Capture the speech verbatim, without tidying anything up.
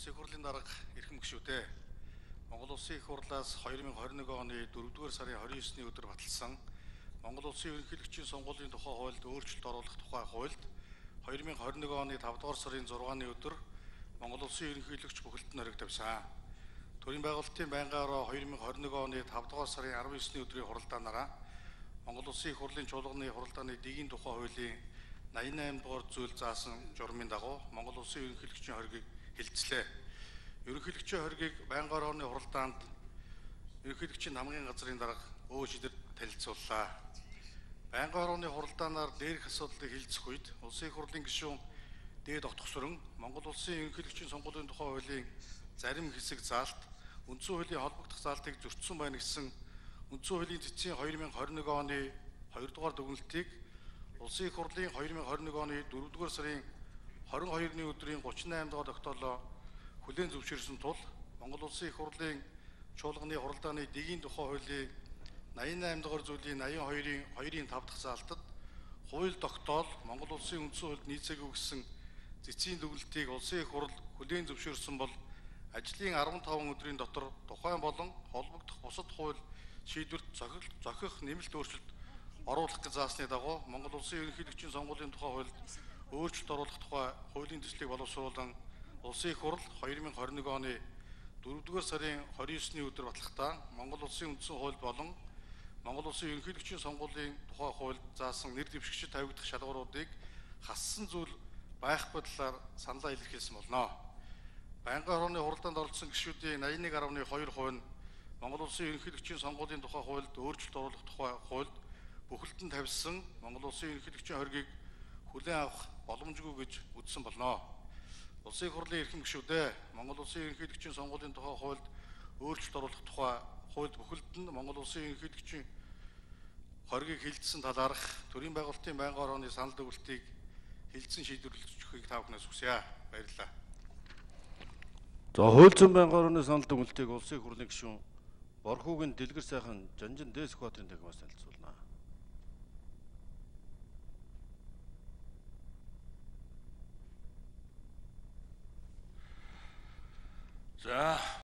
Улсын хурлын дарга эрхэм гишүүдээ Монгол Улсын их хурлаас хоёр мянга хорин нэг оны дөрөвдүгээр сарын хорин есний өдөр баталсан Монгол Улсын ерөнхийлөгчийн сонгуулийн тухай хуульд өөрчлөлт оруулах тухай хуульд хоёр мянга хорин нэг оны тавдугаар сарын зургааны өдөр Монгол Улсын ерөнхийлөгч бүхэлд нь хориг тавьсан. Төрийн байгуулалтын байнгын ороо хоёр мянга хорин нэг оны тавдугаар сарын арав есний өдрийн хуралдаанаараа Монгол Улсын их хурлын чуулганы хуралдааны дэгийн тухай хуулийн найман и восемь дугаар зүйл заасан журмын дагуу Монгол Улсын ерөнхийлөгчийн хоригийг хилцлээ. Ерөнхийлөгчийн хоригийг байнгын орооны хуралдаанд ерөнхийлөгчийн хамгийн газрын дарга өө шидэд танилцууллаа. Байнгын орооны хуралдаанаар дээрх асуудлыг хилцэх үед Улсын их хурлын гишүүн дээд отгосрон Монгол Улсын ерөнхийлөгчийн сонгуулийн тухай хуулийн зарим хэсэг заалт үндсэн хуулийн холбогдох заалтыг зөрчсөн байна гэсэн үндсэн хуулийн цэцгийн хоёр мянга хорин нэг оны хоёрдугаар дүгнэлтийг Улсын их хурлын хоёр мянга хорин нэг оны дөрөвдүгээр сарын хорин хоёрны өдрийн гучин найман дугаар тогтоолоо хүлээн зөвшөөрсөн тул Монгол Улсын их хурлын чуулганы хуралдааны дэгийн тухай хуулийн найман и восемь дугаар зүйлийн найман и хоёрын хоёрын тав дахь заалтад хууль тогтоол Монгол Улсын үндсэн хуульд нийцээгүй гэсэн цэцгийн дүгнэлтийг Улсын их хурл хүлээн зөвшөөрсөн бол ажлын арван таван өдрийн дотор тухайн болон холбогдох бусад хууль шийдвэрт зохих нэмэлт өөрчлөлт оруулах гэж заасны дагуу Монгол Улсын ерөнхийлөгчийн сонгуулийн тухай хуульд өөрчлөлт оруулах тухай хуулийн төслийг боловсруулан Улсын их хурл хоёр мянга хорин нэг оны дөрөвдүгээр сарын хорин есний өдөр батлахдаа Монгол Улсын үндсэн хууль болон Монгол Улсын ерөнхийлөгчийн сонгуулийн тухай хуульд заасан нэр дэвшигчид тавигдах шалгууруудыг хассан зүйл байхгүй талаар саналаа илэрхийлсэн болно. Байнгын орооны хуралдаанд оролцсон гишүүдийн найман нэг гаруй хоёр хувь нь Монгол Улсын ерөнхийлөгчийн сонгуулийн тухай хуульд өөрчлөлт оруулах тухай хуульд бүхэлд нь тавьсан Монгол Улсын ерөнхийлөгчийн хоригийг хүлээн авах боломжгүй гэж үзсэн болно. Улсын их хурлын эрхэм гишүүдээ Монгол Улсын ерөнхийлөгчийн сонгуулийн тухай хуульд өөрчлөлт оруулах тухай хуульд бүхэлд нь Монгол Улсын ерөнхийлөгчийн хоригийг хилцсэн талаарх төрийн байгуулалтын байнгын орооны санал дүгнэлтийг хилцэн шийдвэрлэж өгөхийг та бүхнээс хүсье. Баярлалаа. За хууль зүйн байнгын орооны санал дүгнэлтийг Улсын их хурлын гишүүн Борхуугийн Дэлгэр сайхан Жанжин Дэс Баатарын дахимаас танилцуулна.